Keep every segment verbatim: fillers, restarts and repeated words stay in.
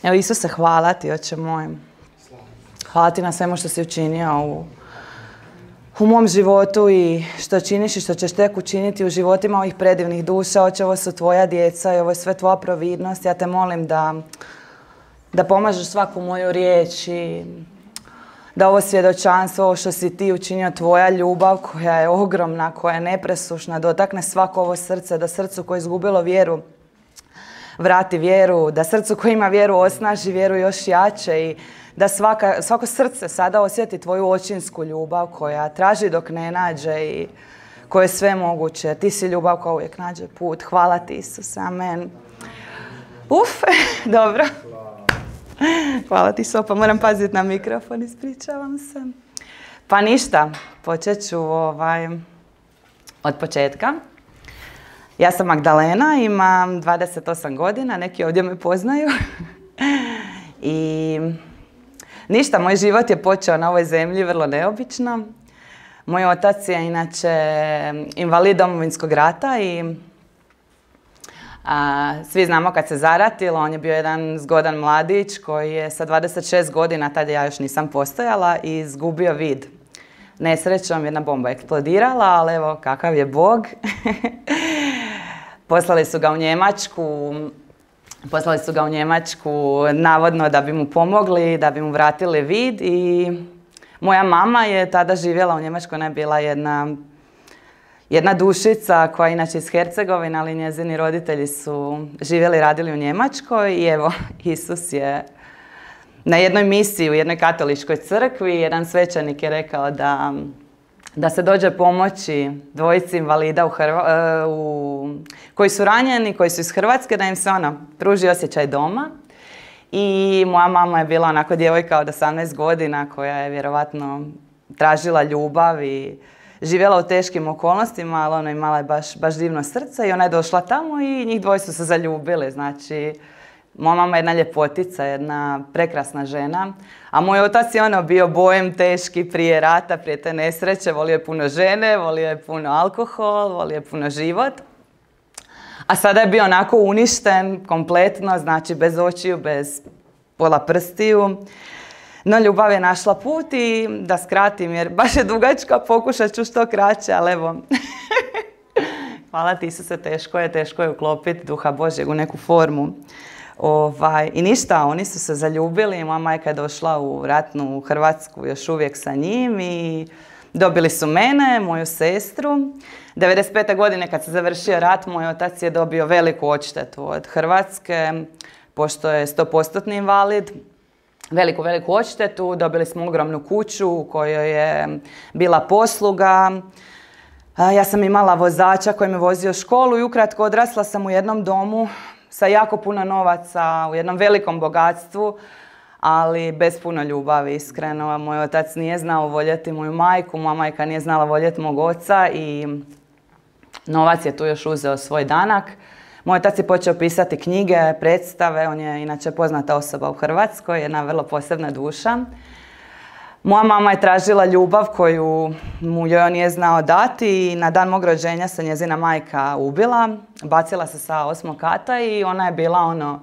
Evo, Isuse, hvala ti, Oče moj. Hvala ti na svemu što si učinio u, u mom životu i što činiš i što ćeš tek učiniti u životima ovih predivnih duša. Oče, ovo su tvoja djeca i ovo je sve tvoja providnost. Ja te molim da, da pomažeš svaku moju riječ i da ovo svjedočanstvo, ovo što si ti učinio, tvoja ljubav koja je ogromna, koja je nepresušna, dotakne svako ovo srce, da srcu koje je izgubilo vjeru vrati vjeru, da srcu koje ima vjeru osnaži vjeru još jače i da svaka, svako srce sada osjeti tvoju očinsku ljubav koja traži dok ne nađe i koja je sve moguće. Ti si ljubav koja uvijek nađe put. Hvala ti, Isuse. Amen. Uf, dobro. Hvala ti, Sopa. Moram paziti na mikrofon, ispričavam se. Pa ništa, počet ću ovaj, od početka. Ja sam Magdalena, imam dvadeset osam godina, neki ovdje me poznaju. I ništa, moj život je počeo na ovoj zemlji vrlo neobično. Moj otac je inače invalid Domovinskog rata i a, svi znamo kad se zaratilo, on je bio jedan zgodan mladić koji je sa dvadeset šest godina, tada ja još nisam postojala, i izgubio vid. Nesrećom jedna bomba eksplodirala, ali evo kakav je Bog. Poslali su ga u Njemačku, poslali su ga u Njemačku navodno da bi mu pomogli, da bi mu vratili vid i moja mama je tada živjela u Njemačkoj, ona je bila jedna, jedna dušica koja je inače iz Hercegovine, ali njezini roditelji su živjeli i radili u Njemačkoj i evo, Isus je na jednoj misiji u jednoj katoličkoj crkvi, jedan svećenik je rekao da da se dođe pomoći dvojici invalida u Hrva, u, koji su ranjeni, koji su iz Hrvatske, da im se ono, pruži osjećaj doma. I moja mama je bila onako djevojka od osamnaest godina koja je vjerovatno tražila ljubav i živjela u teškim okolnostima, ali ona imala je baš, baš divno srce i ona je došla tamo i njih dvoje su se zaljubili. Znači, moja mama je jedna ljepotica, jedna prekrasna žena, a moj otac je ono bio bojem teški prije rata, prije te nesreće, volio je puno žene, volio je puno alkohol, volio je puno život. A sada je bio onako uništen kompletno, znači bez očiju, bez pola prstiju. No ljubav je našla put i da skratim jer baš je dugačka, pokušat ću što kraće, ali evo. Hvala ti, Isuse, teško je, teško je uklopiti Duha Božjeg u neku formu. Ovaj, I ništa, oni su se zaljubili, moja majka je došla u ratnu Hrvatsku još uvijek sa njim i dobili su mene, moju sestru. devedeset pete godine kad se završio rat, moj otac je dobio veliku odštetu od Hrvatske, pošto je sto posto invalid. Veliku, veliku odštetu, dobili smo ogromnu kuću u kojoj je bila posluga. Ja sam imala vozača koji me vozio u školu i ukratko odrasla sam u jednom domu sa jako puno novaca, u jednom velikom bogatstvu, ali bez puno ljubavi, iskreno. Moj otac nije znao voljeti moju majku, moja majka nije znala voljeti mog oca i novac je tu još uzeo svoj danak. Moj otac je počeo pisati knjige, predstave, on je inače poznata osoba u Hrvatskoj, jedna vrlo posebna duša. Moja mama je tražila ljubav koju mu joj on nije znao dati i na dan mog rođenja se njezina majka ubila. Bacila se sa osmog kata i ona je bila ono,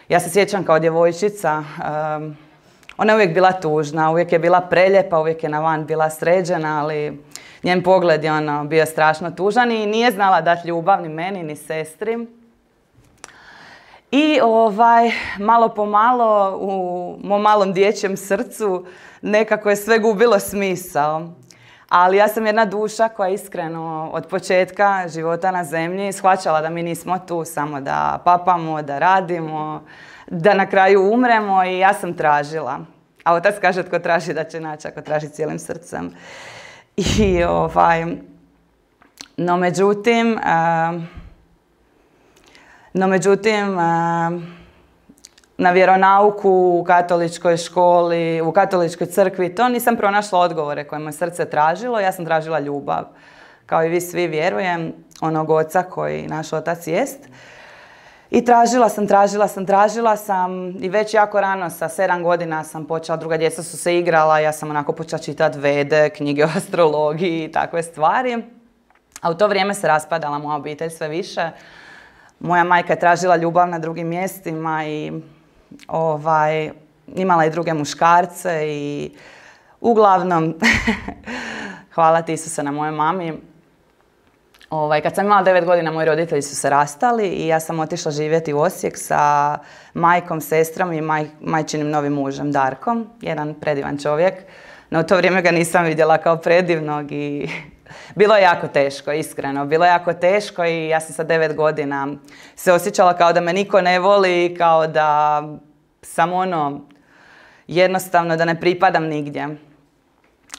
ja se sjećam kao djevojčica, um, ona je uvijek bila tužna, uvijek je bila preljepa, uvijek je na van bila sređena, ali njen pogled je ono bio strašno tužan i nije znala dati ljubav ni meni ni sestri. I ovaj, malo po malo u mom malom dječjem srcu nekako je sve gubilo smisao. Ali ja sam jedna duša koja iskreno od početka života na zemlji shvaćala da mi nismo tu samo da papamo, da radimo, da na kraju umremo i ja sam tražila. A otac kaže tko traži da će naći ako traži cijelim srcem. I ovaj, no međutim, uh, no međutim, uh, na vjeronauku u katoličkoj školi, u katoličkoj crkvi, to nisam pronašla odgovore koje moje srce tražilo. Ja sam tražila ljubav. Kao i vi svi vjerujem, onog oca koji naš otac jest. I tražila sam, tražila sam, tražila sam i već jako rano, sa sedam godina sam počela, druga djeca su se igrala, ja sam onako počela čitati vede, knjige o astrologiji i takve stvari. A u to vrijeme se raspadala moja obitelj sve više. Moja majka je tražila ljubav na drugim mjestima i ovaj, imala i druge muškarce i uglavnom, hvala ti Isuse na mojoj mami. Ovaj, kad sam imala devet godina, moji roditelji su se rastali i ja sam otišla živjeti u Osijek sa majkom, sestrom i maj, majčinim novim mužem, Darkom. Jedan predivan čovjek. No u to vrijeme ga nisam vidjela kao predivnog i bilo je jako teško, iskreno. Bilo je jako teško i ja sam sa devet godina se osjećala kao da me niko ne voli, kao da sam ono, jednostavno da ne pripadam nigdje.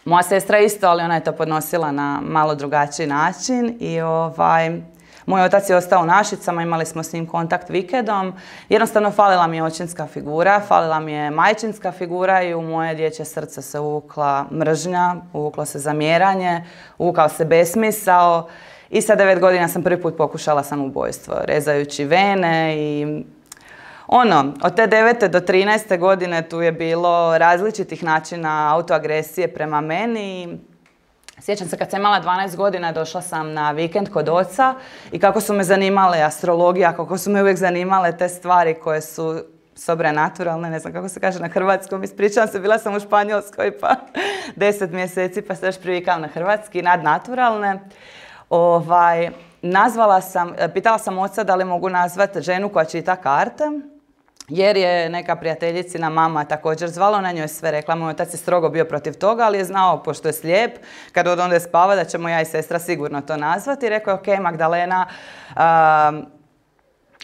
Moja sestra isto, ali ona je to podnosila na malo drugačiji način i ovaj, moj otac je ostao u Našicama, imali smo s njim kontakt vikendom. Jednostavno falila mi je očinska figura, falila mi je majčinska figura i u moje dječje srce se uvukla mržnja, uvuklo se zamjeranje, uvukao se besmisao i sa devet godina sam prvi put pokušala samoubojstvo, rezajući vene i ono, od te devete do trinaeste godine tu je bilo različitih načina autoagresije prema meni. Sjećam se kad sam imala dvanaest godina, došla sam na vikend kod oca i kako su me zanimale astrologija, kako su me uvijek zanimale te stvari koje su sobrenaturalne, ne znam kako se kaže na hrvatskom, ispričavam se, bila sam u Španjolskoj pa deset mjeseci pa se još privikala na hrvatski, nadnaturalne. Ovaj, nazvala sam, pitala sam oca da li mogu nazvati ženu koja čita karte, jer je neka prijateljicina mama također zvala, na njoj je sve rekla. Moj otac je strogo bio protiv toga, ali je znao, pošto je slijep, kad od onda spava, da ćemo ja i sestra sigurno to nazvati. I rekao je, ok, Magdalena, um,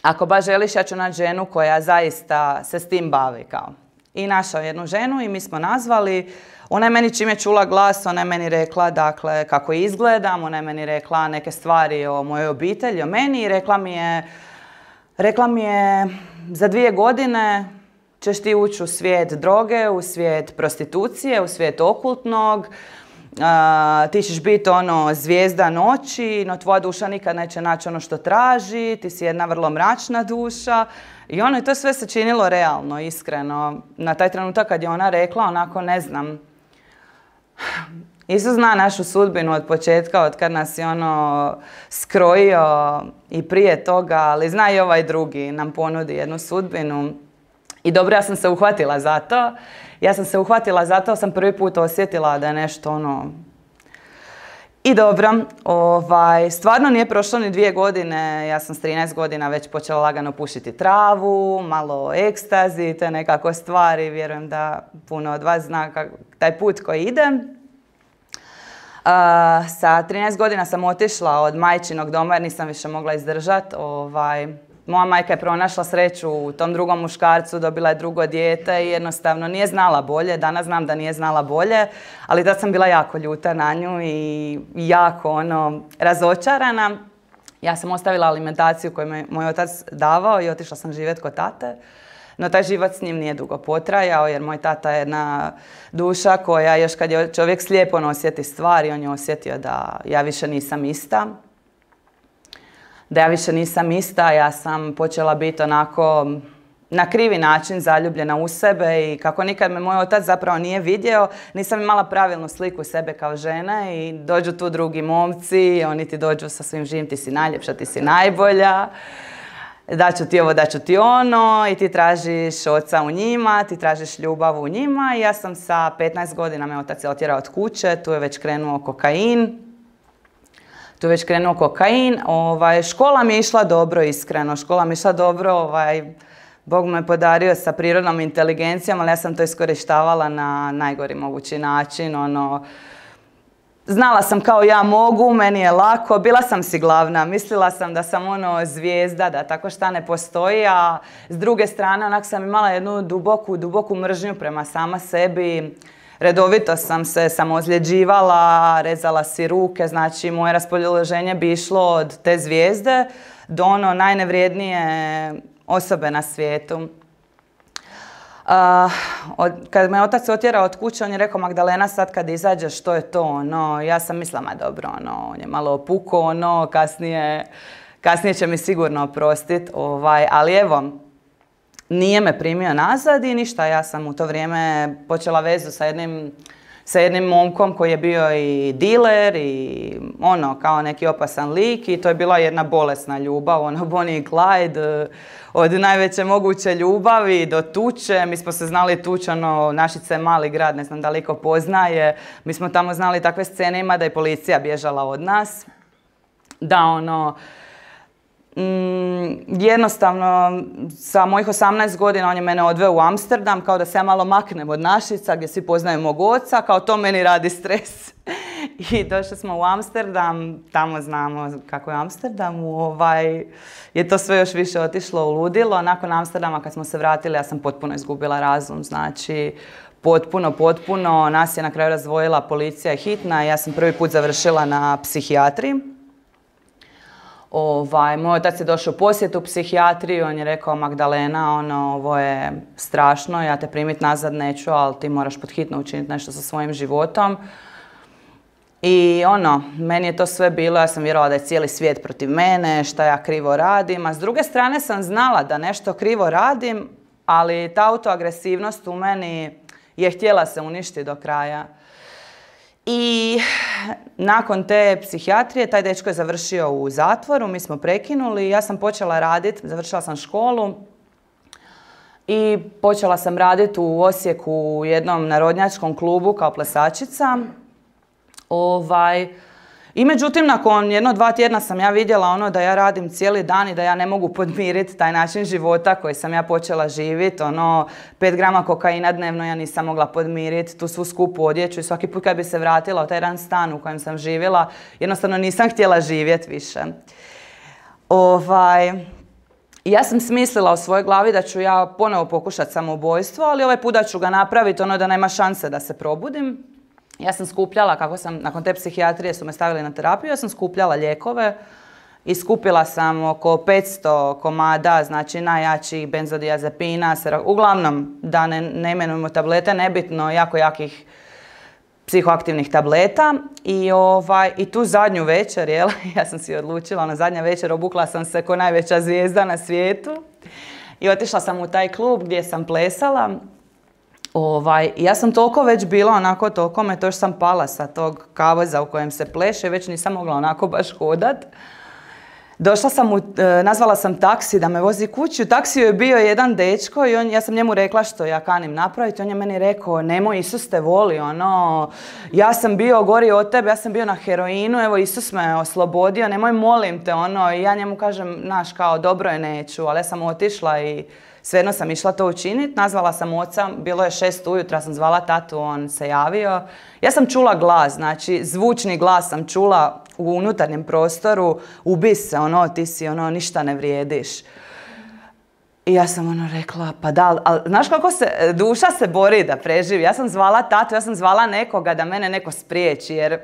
ako baš želiš, ja ću naći ženu koja zaista se s tim bavi. Kao. I našao jednu ženu i mi smo nazvali. Ona je meni čim je čula glas, ona je meni rekla dakle, kako izgledam, ona je meni rekla neke stvari o mojoj obitelji, o meni i rekla mi je, rekla mi je za dvije godine ćeš ti ući u svijet droge, u svijet prostitucije, u svijet okultnog, uh, ti ćeš biti ono zvijezda noći, no tvoja duša nikad neće naći ono što traži, ti si jedna vrlo mračna duša. I ono, i to sve se činilo realno, iskreno. Na taj trenutak kad je ona rekla, onako ne znam, Isus zna našu sudbinu od početka, od kad nas je ono skrojio i prije toga, ali zna i ovaj drugi nam ponudi jednu sudbinu. I dobro, ja sam se uhvatila za to. Ja sam se uhvatila za to, sam prvi put osjetila da je nešto ono... I dobro, ovaj, stvarno nije prošlo ni dvije godine, ja sam s trinaest godina već počela lagano pušiti travu, malo ekstazi, te nekako stvari, vjerujem da puno od vas zna kak, taj put koji ide. Uh, sa trinaest godina sam otišla od majčinog doma jer nisam više mogla izdržati. Ovaj, moja majka je pronašla sreću u tom drugom muškarcu, dobila je drugo dijete i jednostavno nije znala bolje. Danas znam da nije znala bolje, ali da sam bila jako ljuta na nju i jako ono, razočarana. Ja sam ostavila alimentaciju koju mi moj otac davao i otišla sam živjeti kod tate. No taj život s njim nije dugo potrajao jer moj tata je jedna duša koja još kad je čovjek slijep on osjeti stvari, on je osjetio da ja više nisam ista. Da ja više nisam ista, ja sam počela biti onako na krivi način zaljubljena u sebe i kako nikad me moj otac zapravo nije vidio, nisam imala pravilnu sliku sebe kao žene i dođu tu drugi momci, oni ti dođu sa svim živim, ti si najljepša, ti si najbolja. Daću ti ovo, daću ti ono i ti tražiš oca u njima, ti tražiš ljubav u njima i ja sam sa petnaest godina me otac je otjerao od kuće, tu je već krenuo kokain. Tu je već krenuo kokain. Ovaj, škola mi je išla dobro, iskreno. Škola mi je išla dobro, ovaj, Bog me podario sa prirodnom inteligencijom, ali ja sam to iskorištavala na najgori mogući način. Ono, znala sam kao ja mogu, meni je lako, bila sam si glavna, mislila sam da sam ono zvijezda, da tako šta ne postoji, a s druge strane onak sam imala jednu duboku, duboku mržnju prema sama sebi. Redovito sam se samoozljeđivala, rezala si ruke, znači moje raspoloženje bi išlo od te zvijezde do ono najnevrijednije osobe na svijetu. Uh, od, kad me otac otjerao od kuće, on je rekao, Magdalena, sad kad izađeš, što je to? Ono, ja sam mislila, ma dobro, ono, on je malo opuko, ono, kasnije, kasnije će mi sigurno oprostiti, ovaj, ali evo, nije me primio nazad i ništa. Ja sam u to vrijeme počela vezu sa jednim sa jednim momkom koji je bio i diler i ono, kao neki opasan lik i to je bila jedna bolesna ljubav, ono Bonnie i Clyde, od najveće moguće ljubavi do tuče. Mi smo se znali tući, ono, Našice je mali grad, ne znam da li ko poznaje. Mi smo tamo znali takve scene, ima da je policija bježala od nas. Da, ono, mm, jednostavno, sa mojih osamnaest godina on je mene odveo u Amsterdam, kao da se ja malo maknem od Našica, gdje svi poznaju mog oca, kao to meni radi stres. I došli smo u Amsterdam, tamo znamo kako je Amsterdam, ovaj, je to sve još više otišlo u ludilo. Nakon Amsterdama kad smo se vratili, ja sam potpuno izgubila razum, znači potpuno, potpuno. Nas je na kraju razdvojila policija i hitna, ja sam prvi put završila na psihijatriji. Ovaj, moj otac je došao u posjetu u psihijatriju, on je rekao Magdalena, ono, ovo je strašno, ja te primiti nazad neću, ali ti moraš pod hitno učiniti nešto sa svojim životom. I ono, meni je to sve bilo, ja sam vjerovala da je cijeli svijet protiv mene, šta ja krivo radim, a s druge strane sam znala da nešto krivo radim, ali ta autoagresivnost u meni je htjela se uništiti do kraja. I nakon te psihijatrije, taj dečko je završio u zatvoru, mi smo prekinuli, ja sam počela raditi, završila sam školu i počela sam raditi u Osijeku u jednom narodnjačkom klubu kao plesačica. Ovaj, I međutim, nakon jedno dva tjedna sam ja vidjela ono da ja radim cijeli dan i da ja ne mogu podmiriti taj način života koji sam ja počela živjeti. Ono, pet grama kokaina dnevno ja nisam mogla podmiriti, tu svu skupu odjeću i svaki put kad bi se vratila u taj jedan stan u kojem sam živjela, jednostavno nisam htjela živjeti više. Ovaj, ja sam smislila u svojoj glavi da ću ja ponovo pokušati samoubojstvo, ali ovaj put da ću ga napraviti ono da nema šanse da se probudim. Ja sam skupljala, kako sam, nakon te psihijatrije su me stavili na terapiju, ja sam skupljala lijekove i skupila sam oko petsto komada, znači najjačih benzodiazepina, uglavnom, da ne, ne imenujemo tablete, nebitno, jako jakih psihoaktivnih tableta. I, ovaj, i tu zadnju večer, jel, ja sam si odlučila, na zadnja večer obukla sam se ko najveća zvijezda na svijetu i otišla sam u taj klub gdje sam plesala. Ovaj, ja sam toliko već bila onako, toliko me to još sam pala sa tog kavoza u kojem se pleše, već nisam mogla onako baš hodat. Došla sam, u, nazvala sam taksi da me vozi kući, u taksiju je bio jedan dečko i on, ja sam njemu rekla što ja kanim napraviti, on je meni rekao, nemoj, Isus te voli, ono, ja sam bio gori od tebe, ja sam bio na heroinu, evo Isus me oslobodio, nemoj, molim te, ono, i ja njemu kažem, naš, kao, dobro je, neću, ali ja sam otišla i svejedno sam išla to učiniti, nazvala sam oca, bilo je šest ujutro, ja sam zvala tatu, on se javio. Ja sam čula glas, znači zvučni glas sam čula u unutarnjem prostoru, ubi se, ono, ti si, ono, ništa ne vrijediš. I ja sam ono rekla, pa da, ali znaš kako se, duša se bori da preživi. Ja sam zvala tatu, ja sam zvala nekoga da mene neko spriječi, jer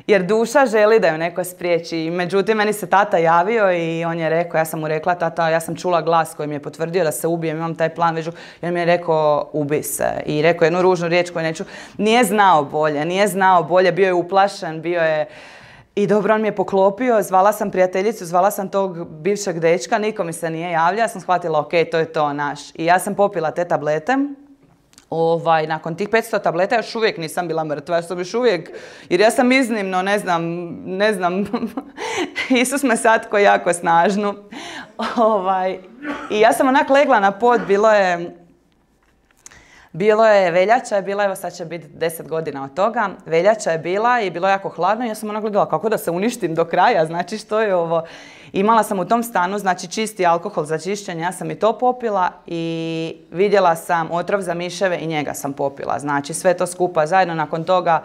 Jer duša želi da ju neko spriječi. Međutim, meni se tata javio i on je rekao, ja sam mu rekla, tata, ja sam čula glas koji mi je potvrdio da se ubijem, imam taj plan već. I on mi je rekao, ubi se. I rekao jednu ružnu riječ koju neću. Nije znao bolje, nije znao bolje, bio je uplašen, bio je... I dobro, on mi je poklopio, zvala sam prijateljicu, zvala sam tog bivšeg dečka, niko mi se nije javlja, ja sam shvatila, ok, to je to, naš. I ja sam popila te tablete. Ovaj, nakon tih petsto tableta još uvijek nisam bila mrtva, još sam još uvijek, jer ja sam iznimno, ne znam, ne znam, Isus me satko jako snažnu. Ovaj, I ja sam onak legla na pod, bilo je, bilo je veljača, je bila, evo sad će biti deset godina od toga, veljača je bila i bilo je jako hladno i ja sam onak gledala kako da se uništim do kraja, znači što je ovo. Imala sam u tom stanu, znači čisti alkohol za čišćenje, ja sam i to popila i vidjela sam otrov za miševe i njega sam popila. Znači sve to skupa zajedno, nakon toga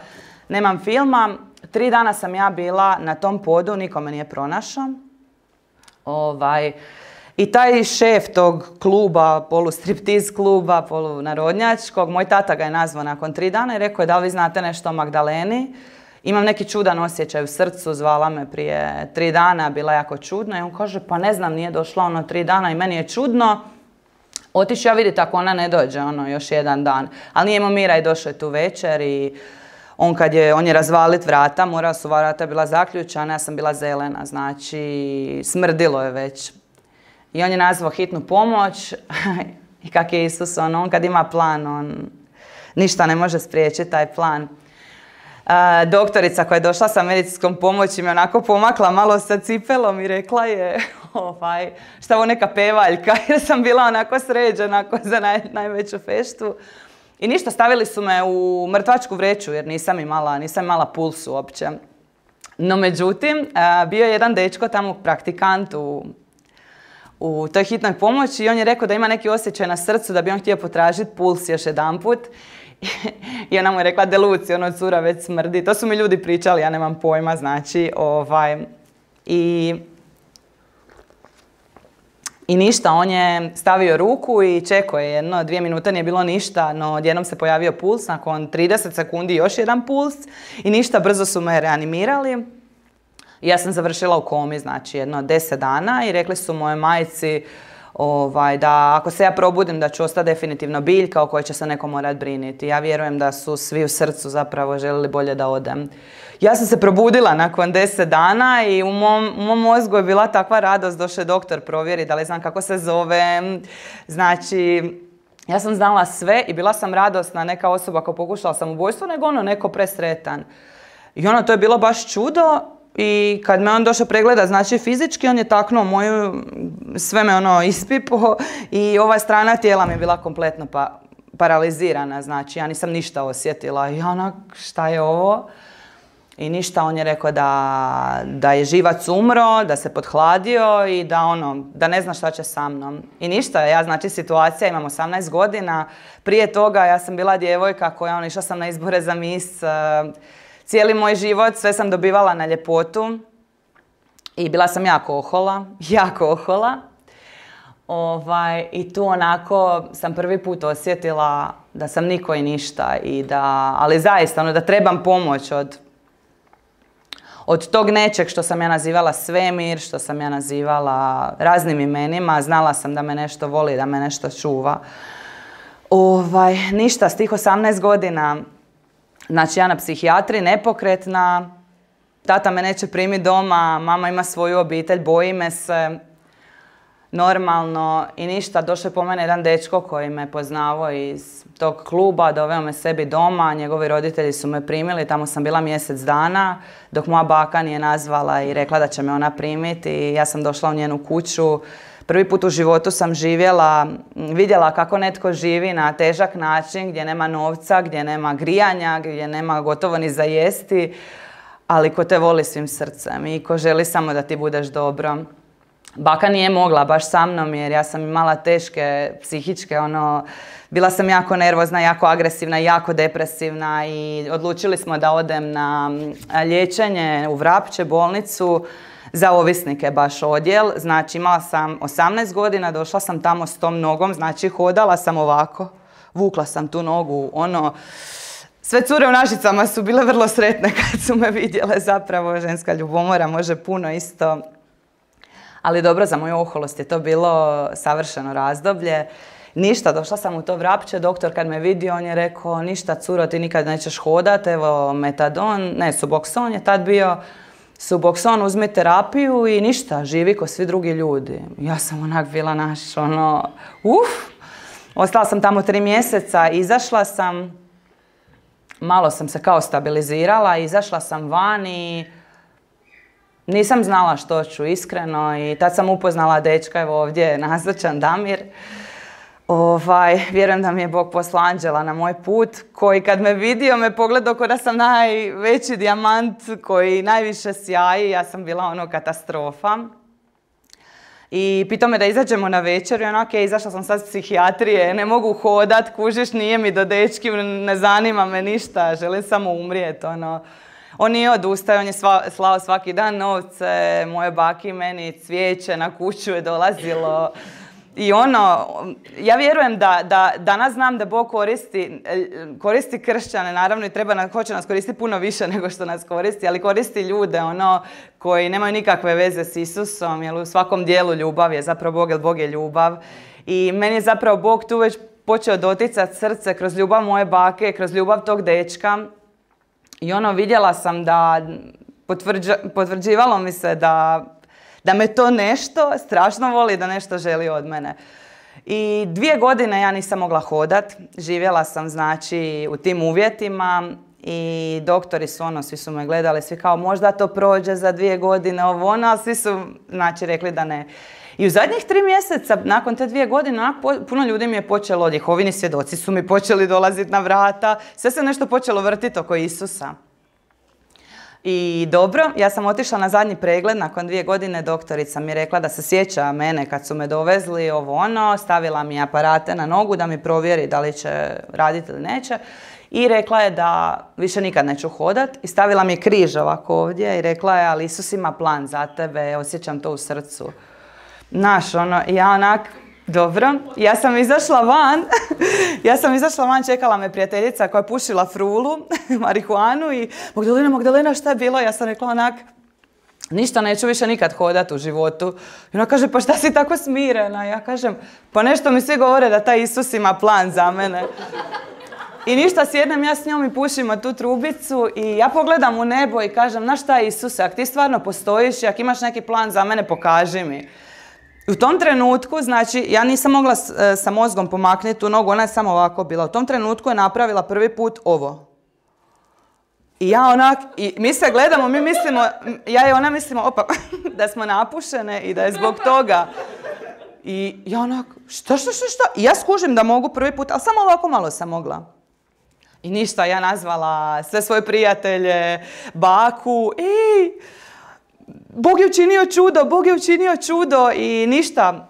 nemam filma. Tri dana sam ja bila na tom podu, niko me nije pronašao. Ovaj, I taj šef tog kluba, polustriptiz kluba, polunarodnjačkog, moj tata ga je nazvao nakon tri dana i rekao je da li vi znate nešto o Magdaleni. Imam neki čudan osjećaj u srcu, zvala me prije tri dana, bila jako čudna i on kaže pa ne znam, nije došla ono tri dana i meni je čudno. Otiću ja vidjeti ako ona ne dođe ono još jedan dan. Ali nije imao mira i došao je tu večer i on kad je, on je razvalit vrata, morala su vrata bila zaključana, ja sam bila zelena, znači smrdilo je već. I on je nazvao hitnu pomoć i kak je Isus, on, on kad ima plan, on... ništa ne može spriječiti taj plan. A, doktorica koja je došla sa medicinskom pomoći me onako pomakla malo sa cipelom i rekla je ovaj, šta ovo neka pevaljka, jer sam bila onako sređena za naj, najveću feštu. I ništa, stavili su me u mrtvačku vreću jer nisam imala, nisam imala puls uopće. No međutim, bio je jedan dečko tamo praktikant u, u toj hitnoj pomoći i on je rekao da ima neki osjećaj na srcu da bi on htio potražiti puls još jedanput. I ona mu je rekla, deluci, ono cura već smrdi. To su mi ljudi pričali, ja nemam pojma, znači. Ovaj, i, I ništa, on je stavio ruku i čekao je jedno, dvije minute nije bilo ništa, no odjednom se pojavio puls, nakon trideset sekundi još jedan puls i ništa, brzo su me reanimirali. I ja sam završila u komi, znači jedno deset dana i rekli su mojoj majci ovaj, da ako se ja probudim da ću ostati definitivno biljka o kojoj će se neko morat briniti. Ja vjerujem da su svi u srcu zapravo željeli bolje da odem. Ja sam se probudila nakon deset dana i u mom, u mom mozgu je bila takva radost, došao je doktor provjeri da li znam kako se zovem. Znači, ja sam znala sve i bila sam radosna, neka osoba ko pokušala samobojstvo, nego ono neko presretan. I ono, to je bilo baš čudo. I kad me on došao pregleda, znači fizički, on je taknuo moju, sve me ono ispipo i ova strana tijela mi je bila kompletno pa, paralizirana, znači ja nisam ništa osjetila. I onak, šta je ovo? I ništa, on je rekao da, da je živac umro, da se pothladio i da ono, da ne zna šta će sa mnom. I ništa, ja znači situacija, imam osamnaest godina, prije toga ja sam bila djevojka koja, ono, išla sam na izbore za mis, cijeli moj život, sve sam dobivala na ljepotu i bila sam jako ohola, jako ohola. Ovaj, I tu onako sam prvi put osjetila da sam niko i ništa, i da, ali zaista ono, da trebam pomoć od, od tog nečeg što sam ja nazivala svemir, što sam ja nazivala raznim imenima, znala sam da me nešto voli, da me nešto čuva. Ovaj, ništa, s tih osamnaest godina, znači ja na psihijatriji, nepokretna, tata me neće primiti doma, mama ima svoju obitelj, boji me se, normalno i ništa. Došao je po mene jedan dečko koji me poznavao iz tog kluba, doveo me sebi doma, njegovi roditelji su me primili, tamo sam bila mjesec dana, dok moja baka nije nazvala i rekla da će me ona primiti i ja sam došla u njenu kuću. Prvi put u životu sam živjela, vidjela kako netko živi na težak način, gdje nema novca, gdje nema grijanja, gdje nema gotovo ni za jesti, ali ko te voli svim srcem i ko želi samo da ti budeš dobro. Baka nije mogla baš sa mnom jer ja sam imala teške psihičke, ono, bila sam jako nervozna, jako agresivna, jako depresivna i odlučili smo da odem na liječenje u Vrapče, bolnicu, za ovisnike baš odjel. Znači imala sam osamnaest godina, došla sam tamo s tom nogom, znači hodala sam ovako, vukla sam tu nogu, ono, sve cure u Našicama su bile vrlo sretne kad su me vidjele, zapravo ženska ljubomora može puno isto. Ali dobro, za moju oholost je to bilo savršeno razdoblje. Ništa, došla sam u to Vrapče, doktor kad me vidio, on je rekao, ništa curo, ti nikad nećeš hodat, evo metadon, ne, Suboxone je tad bio, Suboxone, uzmi terapiju i ništa, živi ko svi drugi ljudi. Ja sam onak bila naš, ono, uf, ostala sam tamo tri mjeseca, izašla sam, malo sam se kao stabilizirala, izašla sam van i nisam znala što ću, iskreno, i tad sam upoznala dečka, evo ovdje je nazočan Damir. Ovaj, vjerujem da mi je Bog poslao anđela na moj put, koji kad me vidio me pogledao kao da sam najveći dijamant koji najviše sjaji, ja sam bila ono katastrofa. I pitao me da izađemo na večer i onako je, izašla sam sad s psihijatrije, ne mogu hodat, kužiš, nije mi do dečki, ne zanima me ništa, želim samo umrijeti, ono. On nije odustao, on je sva, slao svaki dan novce, moje baki meni cvijeće na kuću je dolazilo. I ono, ja vjerujem da, da danas znam da Bog koristi, koristi kršćane, naravno i treba, hoće nas koristiti puno više nego što nas koristi, ali koristi ljude ono koji nemaju nikakve veze s Isusom, jer u svakom dijelu ljubav je zapravo Bog, jer Bog je ljubav. I meni je zapravo Bog tu već počeo doticati srce kroz ljubav moje bake, kroz ljubav tog dečka. I ono, vidjela sam da, potvrđa, potvrđivalo mi se da, da me to nešto strašno voli, da nešto želi od mene. I dvije godine ja nisam mogla hodat. Živjela sam znači u tim uvjetima i doktori su ono, svi su me gledali, svi kao možda to prođe za dvije godine, ovo ono, ali svi su znači rekli da ne. I u zadnjih tri mjeseca, nakon te dvije godine, onak, puno ljudi mi je počelo, Jehovini svjedoci su mi počeli dolaziti na vrata, sve se nešto počelo vrtiti oko Isusa. I dobro, ja sam otišla na zadnji pregled, nakon dvije godine doktorica mi je rekla da se sjeća mene kad su me dovezli, ovo ono, stavila mi aparate na nogu da mi provjeri da li će raditi ili neće. I rekla je da više nikad neću hodat i stavila mi je križ ovako ovdje i rekla je, ali Isus ima plan za tebe, osjećam to u srcu. Znaš, ono, ja onak, dobro, ja sam izašla van, ja sam izašla van, čekala me prijateljica koja je pušila frulu, marihuanu i Magdalena, Magdalena, šta je bilo? Ja sam rekla onak, ništa, neću više nikad hodat u životu. I ona kaže, pa šta si tako smirena? Ja kažem, pa nešto mi svi govore da taj Isus ima plan za mene. I ništa, sjednem ja s njom i pušimo tu trubicu i ja pogledam u nebo i kažem, znaš šta Isuse, ako ti stvarno postojiš i ako imaš neki plan za mene, pokaži mi. U tom trenutku, znači, ja nisam mogla s, sa mozgom pomaknuti tu nogu, ona je samo ovako bila. U tom trenutku je napravila prvi put ovo. I ja onak, i mi se gledamo, mi mislimo, ja i ona mislimo, opa, da smo napušene i da je zbog toga. I ja onak, šta, šta, šta, šta? I ja skužim da mogu prvi put, ali samo ovako malo sam mogla. I ništa, ja nazvala sve svoje prijatelje, baku i Bog je učinio čudo, Bog je učinio čudo i ništa.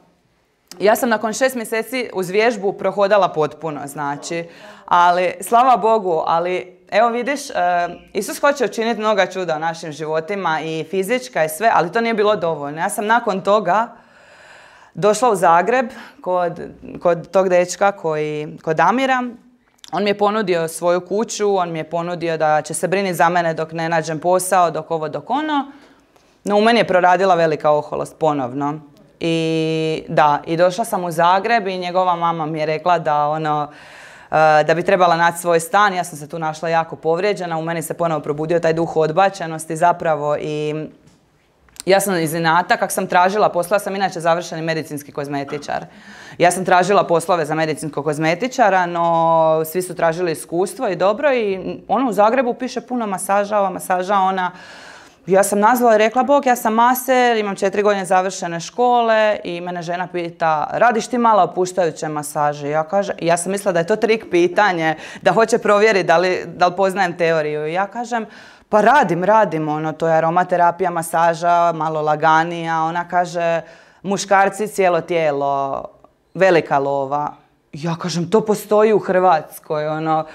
Ja sam nakon šest mjeseci uz vježbu prohodala potpuno, znači, ali slava Bogu, ali evo vidiš, Isus hoće učiniti mnoga čuda u našim životima i fizička i sve, ali to nije bilo dovoljno. Ja sam nakon toga došla u Zagreb kod, kod tog dečka koji, kod Damira. On mi je ponudio svoju kuću, on mi je ponudio da će se briniti za mene dok ne nađem posao, dok ovo, dok ono. No u meni je proradila velika oholost ponovno. I da, i došla sam u Zagreb i njegova mama mi je rekla da ono, da bi trebala naći svoj stan. Ja sam se tu našla jako povrijeđena, u meni se ponovo probudio taj duh odbačenosti zapravo i ja sam iz inata, kak sam tražila poslova, sam inače završeni medicinski kozmetičar. Ja sam tražila poslove za medicinskog kozmetičara, no svi su tražili iskustvo i dobro i ono u Zagrebu piše puno masaža, ova masaža, ona. Ja sam nazvala i rekla, Bog, ja sam maser, imam četiri godine završene škole i mene žena pita, radiš ti malo opuštajuće masaže? Ja, kažem, ja sam mislila da je to trik pitanje, da hoće provjeriti da li, da li poznajem teoriju. I ja kažem, pa radim, radim, ono, to je aromaterapija, masaža, malo laganija. Ona kaže, muškarci cijelo tijelo, velika lova. Ja kažem, to postoji u Hrvatskoj, ono.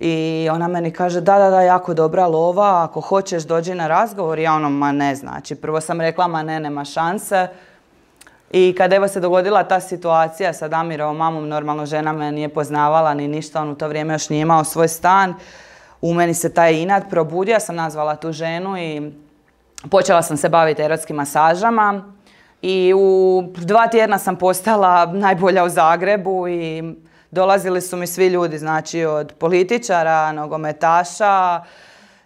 I ona meni kaže, da, da, da, jako dobra lova, ako hoćeš dođi na razgovor. Ja ono, ma ne, znači, prvo sam rekla, ma ne, nema šanse. I kad evo se dogodila ta situacija sa Damirovom mamom, normalno žena me nije poznavala ni ništa, on u to vrijeme još nije imao svoj stan. U meni se taj inat probudio, ja sam nazvala tu ženu i počela sam se baviti erotskim masažama. I u dva tjedna sam postala najbolja u Zagrebu i dolazili su mi svi ljudi, znači od političara, nogometaša,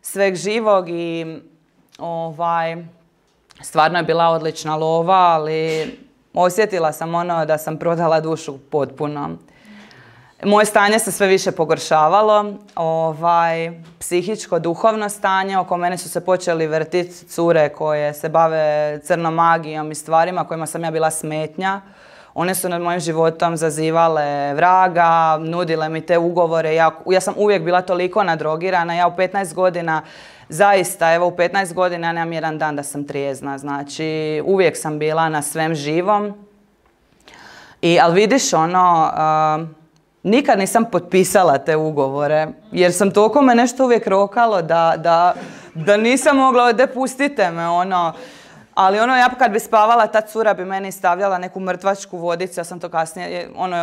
sveg živog i ovaj, stvarno je bila odlična lova, ali osjetila sam ono da sam prodala dušu potpuno. Moje stanje se sve više pogoršavalo, ovaj, psihičko, duhovno stanje, oko mene su se počeli vrtiti cure koje se bave crnom magijom i stvarima kojima sam ja bila smetnja. One su nad mojim životom zazivale vraga, nudile mi te ugovore. Ja, ja sam uvijek bila toliko nadrogirana. Ja u petnaest godina, zaista, evo u petnaest godina ja nemam jedan dan da sam trijezna. Znači, uvijek sam bila na svem živom. I, ali vidiš, ono, uh, nikad nisam potpisala te ugovore, jer sam toliko me nešto uvijek rokalo da, da, da nisam mogla, da pustite me, ono. Ali ono, ja kad bi spavala, ta cura bi meni stavljala neku mrtvačku vodicu, ja sam to kasnije, ono,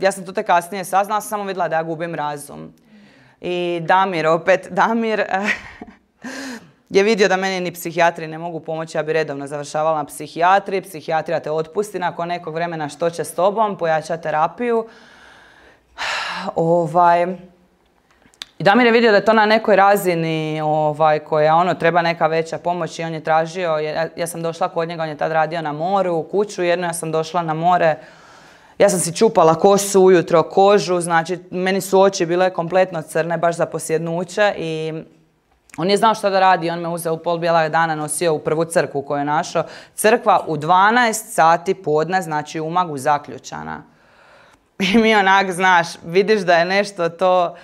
ja sam to te kasnije saznala, sam samo vidjela da ja gubim razum. I Damir, opet, Damir je vidio da meni ni psihijatri ne mogu pomoći, ja bi redovno završavala na psihijatri, psihijatrija te otpusti nakon nekog vremena, što će s tobom, pojača terapiju. Ovaj... I Damir je vidio da je to na nekoj razini ovaj, koja ono, treba neka veća pomoć i on je tražio, ja, ja sam došla kod njega, on je tad radio na moru, u kuću jednu, ja sam došla na more Ja sam si čupala kosu ujutro, kožu, znači meni su oči bile kompletno crne, baš za posjednuće i on je znao šta da radi, on me uzeo u pol bijela dana, nosio u prvu crkvu koju je našao. Crkva u dvanaest sati podne, znači u Umagu zaključana. I mi onak, znaš, vidiš da je nešto to...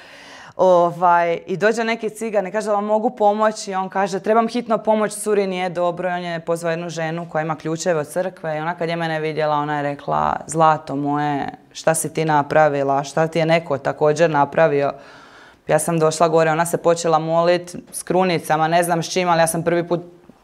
Ovaj, I dođe neki cigan i kaže da vam mogu pomoći i on kaže trebam hitno pomoć, curi nije dobro i on je pozvao jednu ženu koja ima ključeve od crkve i ona kad je mene vidjela ona je rekla zlato moje, šta si ti napravila, šta ti je neko također napravio. Ja sam došla gore, ona se počela moliti s krunicama, ne znam s čim, ali ja sam prvi put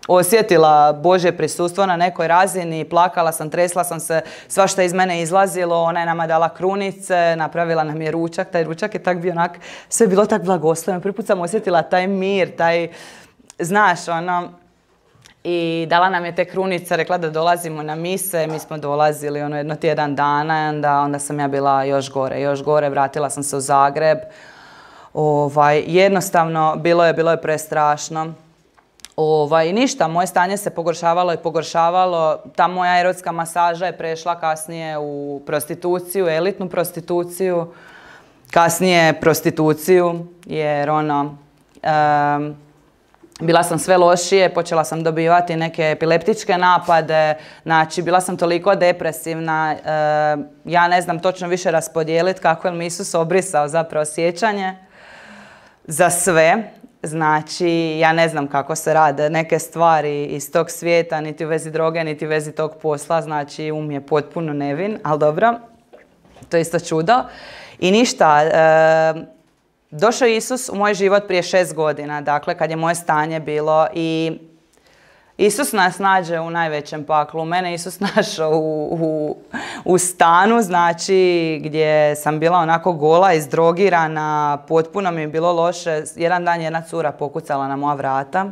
osjetila Božje prisustvo na nekoj razini, plakala sam, tresla sam se, svašta iz mene izlazilo, ona je nama dala krunice, napravila nam je ručak, taj ručak je tak bio onak, sve je bilo tak blagosloveno, prvi put sam osjetila taj mir, taj, znaš, ono, i dala nam je te krunice, rekla da dolazimo na mise, mi smo dolazili ono jedno tjedan dana, onda, onda sam ja bila još gore, još gore, vratila sam se u Zagreb, ovaj, jednostavno, bilo je, bilo je prestrašno. Ovaj, ništa, moje stanje se pogoršavalo i pogoršavalo. Ta moja erotska masaža je prešla kasnije u prostituciju, elitnu prostituciju. Kasnije prostituciju, jer ono, um, bila sam sve lošije, počela sam dobivati neke epileptičke napade, znači bila sam toliko depresivna, uh, ja ne znam točno više raspodijeliti kako je mi Isus obrisao zapravo sjećanje za sve. Znači, ja ne znam kako se rade neke stvari iz tog svijeta, niti u vezi droge, niti u vezi tog posla. Znači, um je potpuno nevin, ali dobro, to je isto čudo. I ništa, e, došao je Isus u moj život prije šest godina, dakle, kad je moje stanje bilo i Isus nas nađe u najvećem paklu. Mene Isus našao u, u, u stanu, znači gdje sam bila onako gola, izdrogirana, potpuno mi je bilo loše. Jedan dan jedna cura pokucala na moja vrata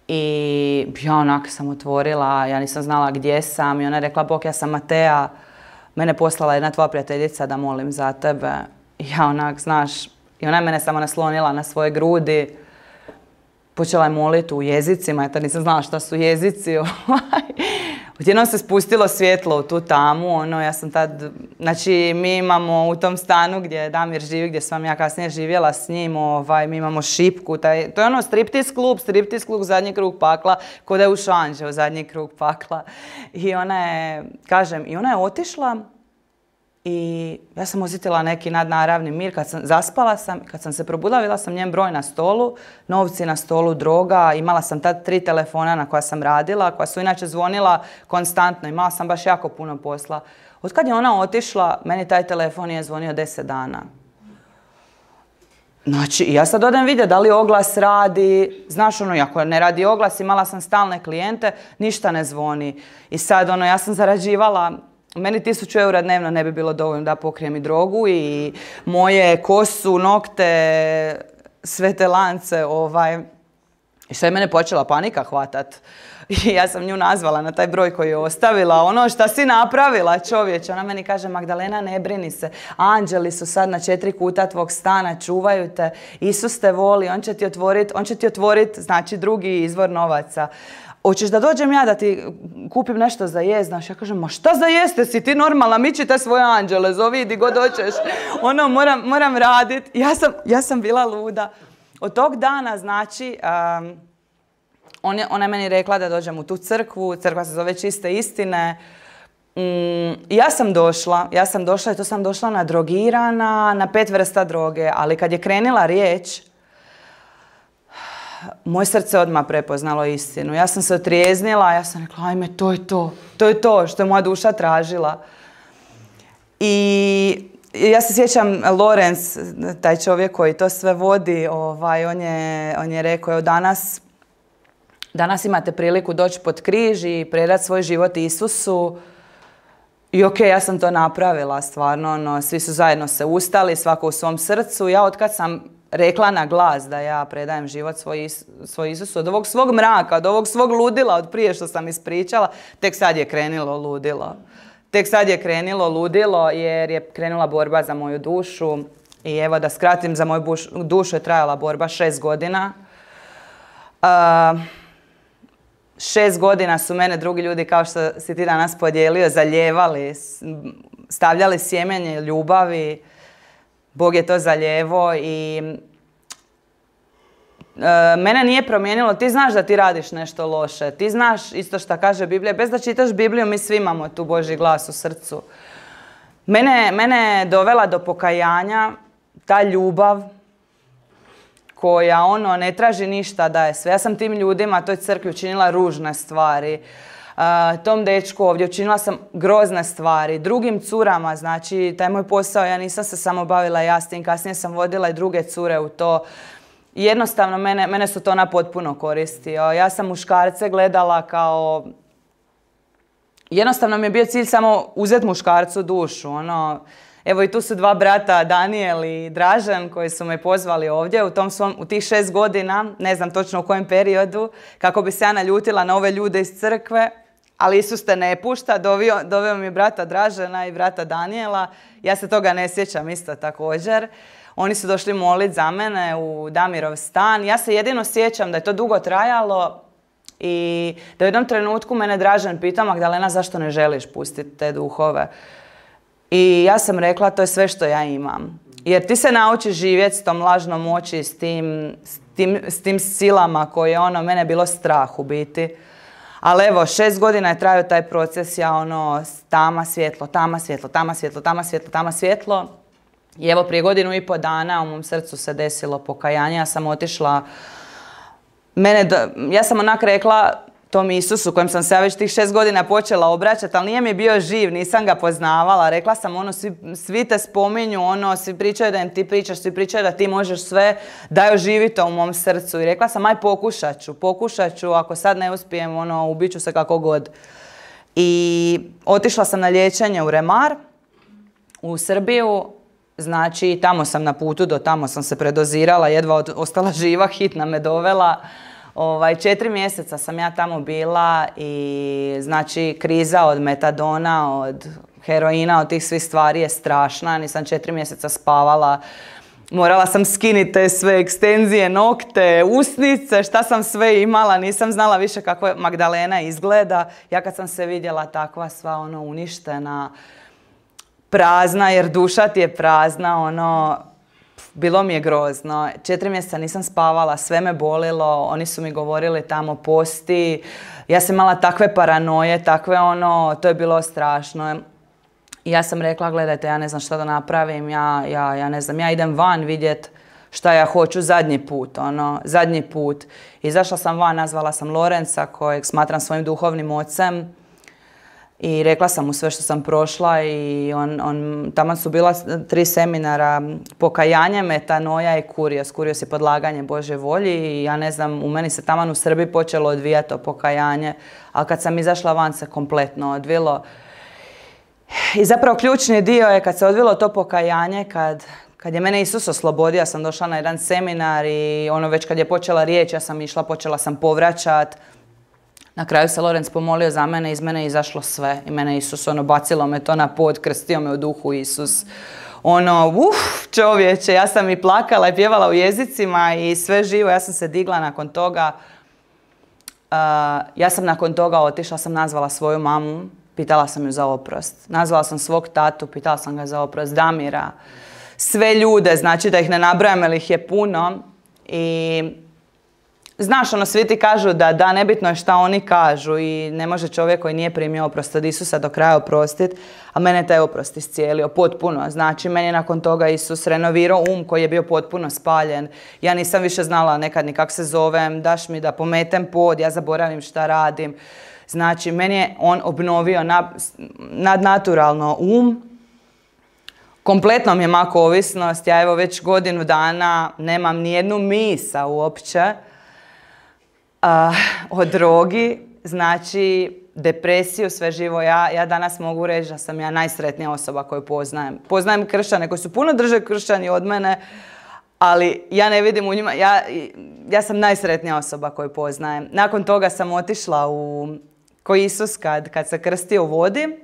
i ja onak sam otvorila, ja nisam znala gdje sam i ona je rekla Bog, ja sam Matea, mene poslala jedna tvoja prijateljica da molim za tebe. I ja onak, znaš, i ona je mene samo naslonila na svoje grudi. Počela je moliti u jezicima, ja tad nisam znala šta su jezici. Odjednom se spustilo svjetlo u tu tamu, ono, ja sam tad, znači mi imamo u tom stanu gdje Damir živi, gdje sam ja kasnije živjela s njim, ovaj, mi imamo šipku, taj, to je ono striptiz klub, striptiz klub zadnji krug pakla, ko da je ušao anđeo u zadnji krug pakla. I ona je, kažem, i ona je otišla i ja sam osjetila neki nadnaravni mir, kad sam zaspala sam, kad sam se probudila, vidjela sam njen broj na stolu, novci na stolu, droga, imala sam tad tri telefona na koja sam radila, koja su inače zvonila konstantno, imala sam baš jako puno posla. Od kad je ona otišla, meni taj telefon je zvonio deset dana. Znači, ja sad odem vidjeti da li oglas radi, znaš ono, ako ne radi oglas, imala sam stalne klijente, ništa ne zvoni. I sad ono, ja sam zarađivala, meni tisuću eura dnevno ne bi bilo dovoljno da pokrijem i drogu i moje kosu, nokte, sve te lance, ovaj. I sve je mene počela panika hvatat. I ja sam nju nazvala na taj broj koji je ostavila. Ono, šta si napravila, čovječe? Ona meni kaže, Magdalena, ne brini se. Anđeli su sad na četiri kuta tvog stana, čuvaju te. Isus te voli, on će ti otvoriti, on će ti otvoriti, znači, drugi izvor novaca. Hoćeš da dođem ja da ti kupim nešto za jest? Znaš, ja kažem, ma šta za jeste si ti normalna, miči te svoje anđele, zovi di god hoćeš. Ono, moram, moram raditi. Ja sam, ja sam bila luda. Od tog dana, znači, um, on je, ona je meni rekla da dođem u tu crkvu, crkva se zove Čiste istine. Mm, ja sam došla, ja sam došla i to sam došla nadrogirana, na pet vrsta droge, ali kad je krenila riječ, moje srce odmah prepoznalo istinu. Ja sam se otrijeznila, ja sam rekla, ajme, to je to, to je to što je moja duša tražila. I ja se sjećam, Lorenz, taj čovjek koji to sve vodi, ovaj, on je, on je rekao, evo danas, danas imate priliku doći pod križ i predati svoj život Isusu. I okej, ja sam to napravila, stvarno, ono, svi su zajedno se ustali, svako u svom srcu. Ja otkad sam rekla na glas da ja predajem život svoj, svoj Isusu, od ovog svog mraka, od ovog svog ludila, od prije što sam ispričala, tek sad je krenilo ludilo. Tek sad je krenilo ludilo jer je krenula borba za moju dušu. I evo da skratim, za moju dušu je trajala borba šest godina. Uh, šest godina su mene drugi ljudi, kao što si ti danas podijelio, zalijevali, stavljali sjemenje ljubavi. Bog je to zaljevo i e, mene nije promijenilo. Ti znaš da ti radiš nešto loše. Ti znaš isto što kaže Biblija. Bez da čitaš Bibliju, mi svi imamo tu Božji glas u srcu. Mene, mene je dovela do pokajanja ta ljubav koja ono ne traži ništa da je sve. Ja sam tim ljudima, toj crkvi učinila ružne stvari. Uh, tom dečku ovdje učinila sam grozne stvari. Drugim curama, znači taj moj posao, ja nisam se samo bavila ja s tim, kasnije sam vodila i druge cure u to. Jednostavno, mene, mene su to na potpuno koristio. Ja sam muškarce gledala kao... Jednostavno mi je bio cilj samo uzeti muškarcu dušu. Ono, evo i tu su dva brata, Danijel i Dražen, koji su me pozvali ovdje u, tom svom, u tih šest godina, ne znam točno u kojem periodu, kako bi se ja naljutila na ove ljude iz crkve. Ali Isus te ne pušta, doveo, doveo mi brata Dražena i brata Danijela. Ja se toga ne sjećam isto također. Oni su došli moliti za mene u Damirov stan. Ja se jedino sjećam da je to dugo trajalo i da u jednom trenutku mene Dražen pitao: Magdalena, zašto ne želiš pustiti te duhove? I ja sam rekla, to je sve što ja imam. Jer ti se naučiš živjeti s tom lažnom moći, s tim, s tim, s tim silama koje ono, mene je bilo strah u biti. Ali evo, šest godina je trajao taj proces, ja ono, tama svjetlo, tama svjetlo, tama svjetlo, tama svjetlo, tama svjetlo. I evo, prije godinu i pol dana u mom srcu se desilo pokajanje. Ja sam otišla, mene, ja sam onak rekla tom Isusu, kojem sam se ja već tih šest godina počela obraćati, ali nije mi bio živ, nisam ga poznavala. Rekla sam ono, svi, svi te spominju, ono, svi pričaju da im ti pričaš, svi pričaju da ti možeš sve, daj oživi to u mom srcu. I rekla sam, aj pokušat ću, pokušat ću, ako sad ne uspijem, ono, ubit ću se kako god. I otišla sam na liječenje u Remar, u Srbiju. Znači, tamo sam na putu, do tamo sam se predozirala, jedva od, ostala živa, hitna me dovela. Ovaj, četiri mjeseca sam ja tamo bila i znači kriza od metadona, od heroina, od tih svih stvari je strašna. Nisam četiri mjeseca spavala. Morala sam skiniti te sve ekstenzije, nokte, usnice, šta sam sve imala. Nisam znala više kako Magdalena izgleda. Ja kad sam se vidjela takva sva ono uništena, prazna, jer duša ti je prazna, ono, bilo mi je grozno. Četiri mjeseca nisam spavala, sve me bolilo, oni su mi govorili tamo posti. Ja sam imala takve paranoje, takve ono, to je bilo strašno. I ja sam rekla, gledajte, ja ne znam šta da napravim, ja, ja, ja ne znam, ja idem van vidjet šta ja hoću zadnji put, ono, zadnji put. Izašla sam van, nazvala sam Lorenca, kojeg smatram svojim duhovnim ocem. I rekla sam mu sve što sam prošla i on, on, tamo su bila tri seminara, pokajanje, metanoja i kurios. Kurios je podlaganje Božje volji i ja ne znam, u meni se taman u Srbiji počelo odvijati to pokajanje, ali kad sam izašla van se kompletno odvilo. I zapravo ključni dio je kad se odvilo to pokajanje, kad, kad je mene Isus oslobodio, ja sam došla na jedan seminar i ono već kad je počela riječ, ja sam išla, počela sam povraćat. Na kraju se Lorenz pomolio za mene, iz mene je izašlo sve. I mene Isus, ono, bacilo me to na pod, krstio me u duhu Isus. Ono, uf, čovječe, ja sam i plakala i pjevala u jezicima i sve živo. Ja sam se digla nakon toga. Uh, ja sam nakon toga otišla, sam nazvala svoju mamu, pitala sam ju za oprost. Nazvala sam svog tatu, pitala sam ga za oprost, Damira. Sve ljude, znači da ih ne nabrajam, jer ih je puno. I znaš, ono, svi ti kažu da, da, nebitno je šta oni kažu i ne može čovjek koji nije primio oprost od Isusa do kraja oprostiti, a mene taj oprost iscijelio potpuno. Znači, meni je nakon toga Isus renovirao um koji je bio potpuno spaljen. Ja nisam više znala nekad ni kako se zovem, daš mi da pometem pod, ja zaboravim šta radim. Znači, meni je on obnovio nadnaturalno um. Kompletno mi je mako ovisnost. Ja evo već godinu dana nemam ni jednu misa uopće. Uh, o drogi, znači depresiju, sve živo. Ja, ja danas mogu reći da sam ja najsretnija osoba koju poznajem. Poznajem kršćane koji su puno drže kršćani od mene, ali ja ne vidim u njima, ja, ja sam najsretnija osoba koju poznajem. Nakon toga sam otišla u, ko Isus kad, kad se krstio u vodi.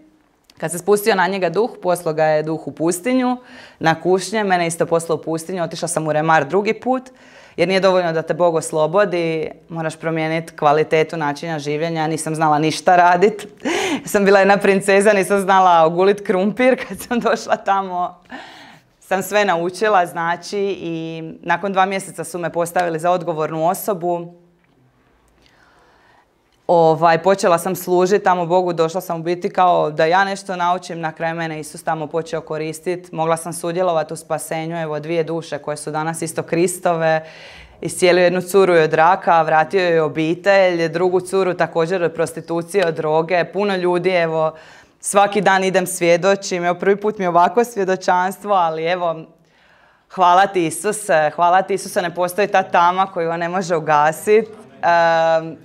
Kad se spustio na njega duh, poslao ga je duh u pustinju, na kušnje, mene isto poslao u pustinju, otišla sam u remar drugi put, jer nije dovoljno da te Bog oslobodi, moraš promijeniti kvalitetu načina življenja, nisam znala ništa raditi. Sam bila jedna princeza, nisam znala ogulit krumpir, kad sam došla tamo sam sve naučila, znači, i nakon dva mjeseca su me postavili za odgovornu osobu. Ovaj, počela sam služiti tamo Bogu, došla sam u biti kao da ja nešto naučim, na kraju mene Isus tamo počeo koristiti. Mogla sam sudjelovati u spasenju, evo dvije duše koje su danas isto Kristove. Iscijelio jednu curu od raka, vratio joj obitelj, drugu curu također od prostitucije, od droge. Puno ljudi, evo, svaki dan idem svjedočim, evo prvi put mi je ovako svjedočanstvo, ali evo, hvala ti Isuse, hvala ti Isuse, ne postoji ta tama koju on ne može ugasiti. Um,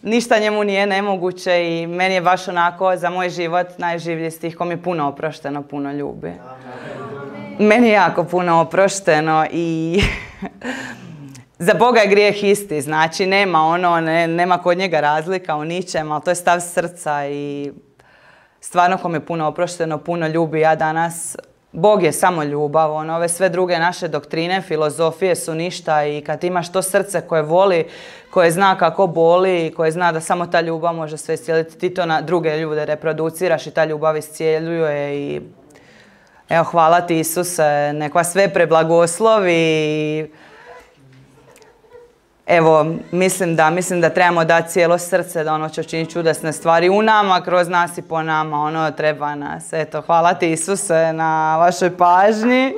Ništa njemu nije nemoguće i meni je baš onako za moj život najživlji stih ko mi je puno oprošteno, puno ljubi. Meni je jako puno oprošteno i za Boga je grijeh isti, znači nema ono, ne, nema kod njega razlika u ničem, ali to je stav srca i stvarno ko mi je puno oprošteno, puno ljubi. Ja danas, Bog je samo ljubav, ono, ove sve druge naše doktrine, filozofije su ništa i kad imaš to srce koje voli, koje zna kako boli, koje zna da samo ta ljubav može sve iscijeliti, ti to na druge ljude reproduciraš i ta ljubav iscijeljuje i evo, hvala ti Isuse, nek vas sve preblagoslovi. Evo, mislim da, mislim da trebamo dati cijelo srce, da ono će učiniti čudesne stvari u nama, kroz nas i po nama, ono treba nas. Eto, hvala ti Isuse na vašoj pažnji.